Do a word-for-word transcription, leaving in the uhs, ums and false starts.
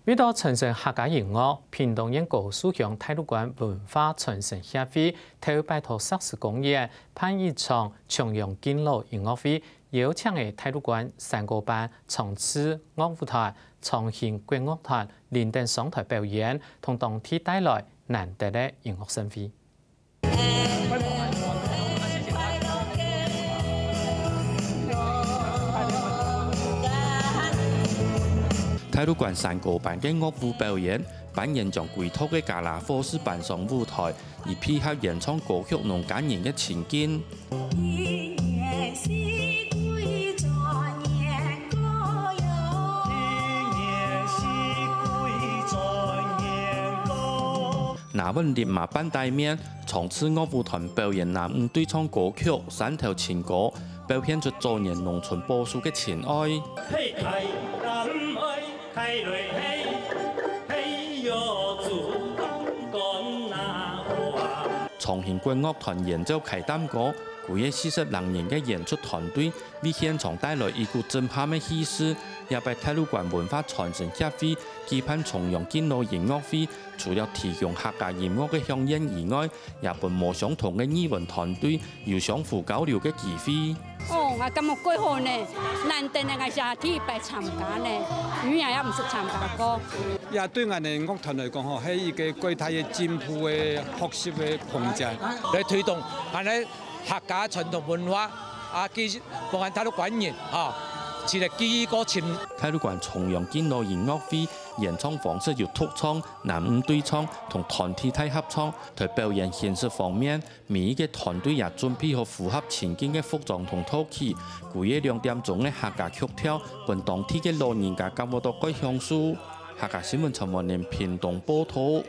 為著傳承客家音樂，屏東縣高樹鄉大路關文化傳承協會頭擺在石獅公園辦一場重陽敬老音樂會，邀請个大路關山歌班、長治樂舞團、長興國樂團、林等上臺表演，同當地帶來難得个音樂盛會。 大路關山歌班个樂舞表演，班員將歸桌个家啦伙食搬上舞臺，以配合演唱歌曲農家人个情境。 拿穩立馬半帶面，長治樂舞團表演男女對唱歌曲《山頭情歌》，表現出早年農村保守个情愛。 長興國樂團演奏㧡擔歌，歸个四十零人个演出團隊，為現場帶來一股震撼个氣勢。這擺大路關文化傳承協會舉辦重陽敬老音樂會，除了提供客家音樂个饗宴以外，也分無相同个語文團隊有相互交流个機會。 哦，𠊎感覺蓋好呢，難得呢，𠊎係第一擺參加呢，以前也毋識參加過。這對𠊎等樂團來講吼，係一個蓋大个進步个學習个空間，來推動𠊎等客家傳統文化啊，佢分𠊎大路關人吼，一個記憶過深。大路關重陽敬老音樂會演唱方式有獨唱、男女對唱同團體大合唱，在表演形式方面， 每一個團隊也準備好符合情境个服裝同道具，歸个兩點鐘个客家曲調，分當地个老人家感覺到蓋享受。客家新聞陳文玲屏東報導。